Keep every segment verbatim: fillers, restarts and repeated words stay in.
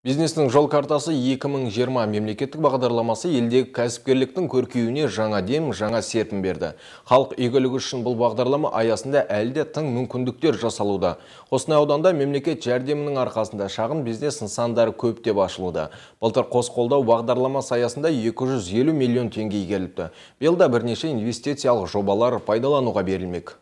Бизнестің жол картасы екі мың жиырма мемлекеттік бағдарламасы елдегі кәсіпкерліктің көркеюіне жаңа дем, жаңа серпін берді. Халық игілігі үшін бұл бағдарлама аясында әлі де тың мүмкіндіктер жасалуда. Қостанай ауданында мемлекет жәрдемінің арқасында шағын бизнес нысандары көптеп ашылуда. Былтыр қос қолдау бағдарламасы аясында екі жүз елу миллион теңге игеріліпті. Биылда бірнеше инвестициялық жобалар пайдалануға берілмек.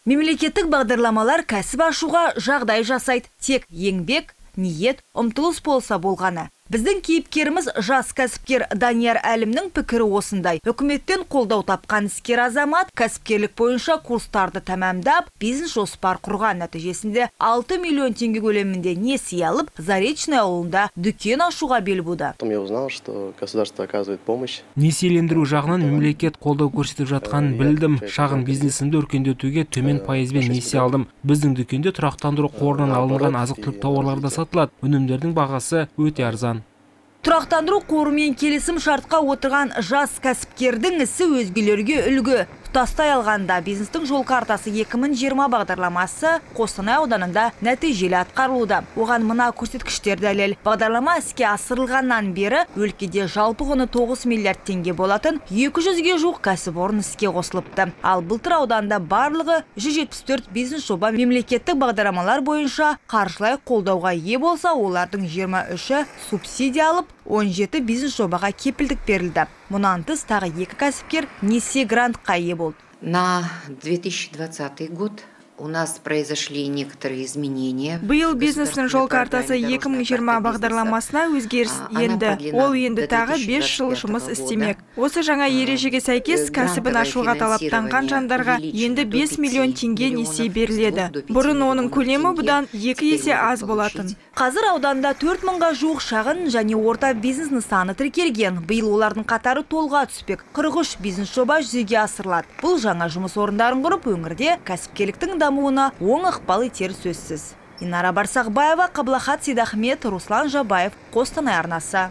Мемлекеттік бағдарламалар кәсіп ашуға жағдай жасайды. Тек еңбек, ниет, ұмтылыс болса болғаны. Біздің кейіпкеріміз жас кәсіпкер Данияр Әлімнің пікірі осындай. Үкіметтен қолдау тапқан іскер азамат кәсіпкерлік бойынша курстарды тәмамдап, бизнес жоспар құрған, нәтижесінде алты миллион теңге көлемінде несие алып, Заречный ауылында дүкен ашуға бел буды. Я узнал, что государство оказывает помощь. Несиелендіру жағынан мемлекет қолдау көрсетіп жатқанын білдім. Шағын бизнесімді өркендетуге төмен пайызбен несие алдым. Біздің дүкенде тұрақтандыру қорынан алынған азық-түлік тауарлар да сатылады. Өнімдердің бағасы өте арзан. Тұрақтандыру қорымен келісім шартқа отырған жас кәсіпкердің ісі өзгелерге үлгі. Тұтастай алғанда бизнестің жол картасы екі мың жиырма бағдарламасы Қостанай ауданында нәтижелі атқарылуда. Оған мына көрсеткіштер дәлел. Бағдарлама іске асырылғаннан бері өлкеде жалпы құны тоғыз миллиард теңге болатын екі жүзге жуық кәсіпорын іске қосылыпты. Ал былтыр ауданда барлығы жүз жетпіс төрт бизнес жоба мемлекеттік бағдарламалар бойынша қаржылай қолдауға ие болса, олардың жиырма үші субсидия алып, он жеті бизнес жобаға кепілдік берілді. Мұнан тыс тағы екі кәсіпкер несие грантқа ие болды. На две тысячи двадцатый год у нас произошли некоторые изменения. Биыл бизнестің жол картасы екі мың жиырма бағдарламасына өзгеріс енді. Ол енді тағы бес жыл жұмыс істемек. Осы жаңа ережеге сәйкес кәсібін ашуға талаптанған жандарға енді бес миллион теңге несие беріледі. Бұрын оның көлемі бұдан екі есе аз болатын. Қазір ауданда төрт мыңға жуық шағын және орта бизнес нысаны тіркелген. Биыл олардың қатары толға түспек. қырық үш бизнес жоба жүзеге асырылады. Бұл жаңа жұмыс орындарын құрып, өңірде кәсіпкерліктің дамуына оң ықпал етері сөзсіз. Инара Барсақбаева, Қаблахат Сейдахмет, Руслан Жабаев, Қостанай арнасы.